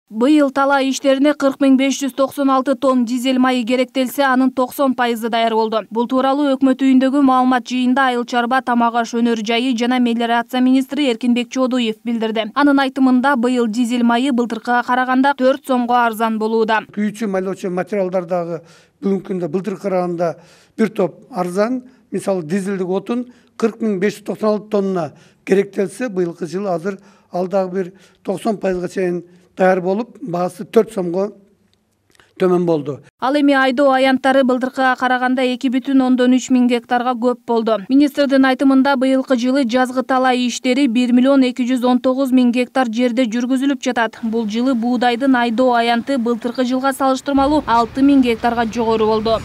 Быйыл талаа иштерине 40.596 тонн дизель майы керектелсе, анын 90% даяр болду. Бул тууралуу өкмөт үйүндөгү маалымат жыйында Айыл чарба, тамак аш өнөр жайы жана мелиорация министри Эркинбек Чоодуев билдирди. Анын айтымында быйыл дизель майы былтыркыга караганда 4 сомго арзан болууда. Күйүүчү майлоочу материалдар дагы бүгүнкү күндө былтыркыга караганда бир топ арзан. Мисалы дизелдик отун 40.596 тонна керектелсе, быйылкы жылы азыр ал дагы бир 90%га чейин даяр болуп, баасы 4 сомго төмөн болду. Ал эми айдоо аянттары былтыркыга караганда 2,3 миң гектарга көп болду. Министрдин айтымында быйылкы жылы жазгы талаа иштери 1,219,000 гектар жерде жүргүзүлүп жатат. Бул жылы буудайдын айдоо аянты былтыркы жылга салыштырмалуу 6,000 гектарга жогору болду.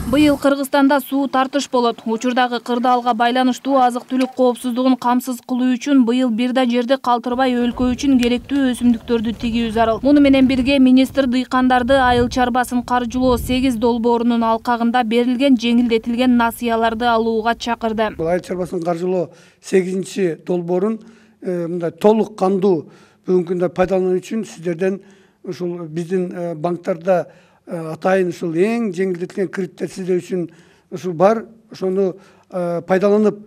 Быйыл Кыргызстанда суу тартыш болот. Учурдагы кырдаалга байланыштуу азык-түлүк коопсуздугун камсыз кылуу үчүн быйыл бир да жерде калтырбай өлкө үчүн керектүү өсүмдүктөрдү тигүү зарыл. Муну менен бирге министр дыйкандарды айыл чарбасын каржылоо 8 долбоорунун алкагында берилген жеңилдетилген насыяларды алууга чакырды. Айыл чарбасын каржылоо 8 долбоорун мындай толук кандуу бүгүнкү күндө пайдалануу үчүн сиздерден ушул биздин банктарда атайын ушул эң жеңилдетилген кредиттер сиздер үчүн ушул бар. Ошону пайдаланып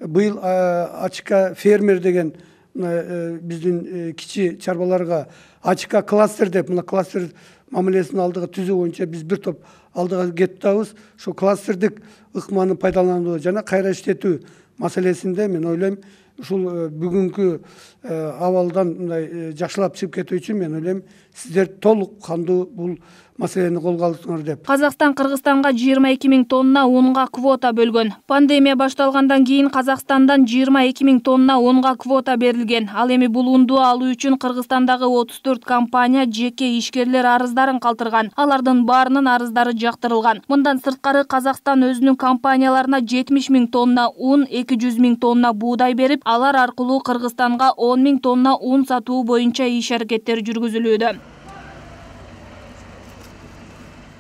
быйыл АЧК фермер деген биздин кичи чарбаларга АЧК кластер деп, мына кластер мамилесин алдыга түзүү боюнча биз бир топ алдыга кетип атабыз. Ошол кластердик ыкманы пайдалануу жана кайра иштетүү маселесинде мен ойлойм, ушул бүгүнкү абалдан мындай жакшылап чыгып кетүү үчүн мен ойлойм, сиздер толук кандуу бул маселени колго алдыңар деп. Казакстан Кыргызстанга 22.000 тонна унга квота бөлгөн. Пандемия башталгандан кийин Казакстандан 22.000 тонна унга квота берилген. Ал эми бул унду алуу үчүн Кыргызстандагы 34 компания жеке ишкерлер арыздарын калтырган. Алардын баарынын арыздары жактырылган. Мындан сырткары Казакстан өзүнүн компанияларына 70.000 тонна ун, 200.000 тонна буудай берип, алар аркылуу Кыргызстанга 10.000 тонна ун сатуу боюнча иш-аракеттер жүргүзүлүүдө.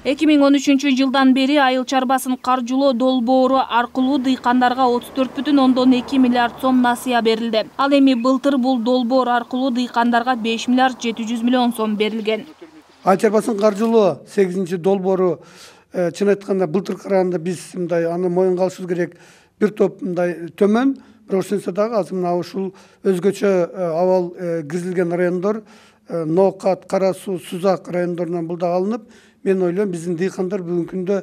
2013 жылдан бери айыл чарбасын каржылоо долбоору аркылуу дыйкандарга 34,2 миллиард сом насыя берилди. Ал эми былтыр бул долбоор аркылуу дыйкандарга 5 миллиард 700 миллион сом берилген. Айыл чарбасын каржылоо 8 долбоору чын айтканда былтыркыга караганда биз мындай аны моюнга алышыбыз керек, бир топ мындай төмөн. Бирок ошентсе дагы азыр мына ушул өзгөчө абал киргизилген райондор Ноокат, Кара Суу, Сузак райондорунан бул дагы алынып, мен ойлойм биздин дыйкандар бүгүнкү күндө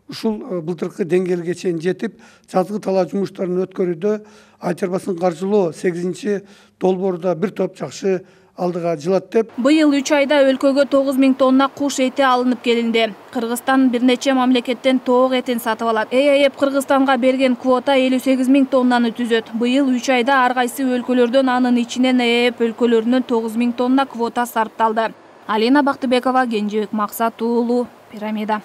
ушул былтыркы деңгээлге чейин жетип, жазгы талаа жумуштарын өткөрүүдө айыл чарбасын каржылоо 8 долбоорда бир топ жакшы алдыга жылат деп. Быйыл 3 айда өлкөгө 9.000 тонна куш эти алынып келинди. Кыргызстан бир нече мамлекеттен тоок этин сатып алат. ЭЭП Кыргызстанга берген квота 58.000 тоннаны түзөт. Быйыл 3 айда ар кайсы өлкөлөрдөн, анын ичинен ЭЭП өлкөлөрүнөн 9.000 тонна квота сарпталды. Алина Бактыбекова, Кенжебек Максат уулу, Пирамида.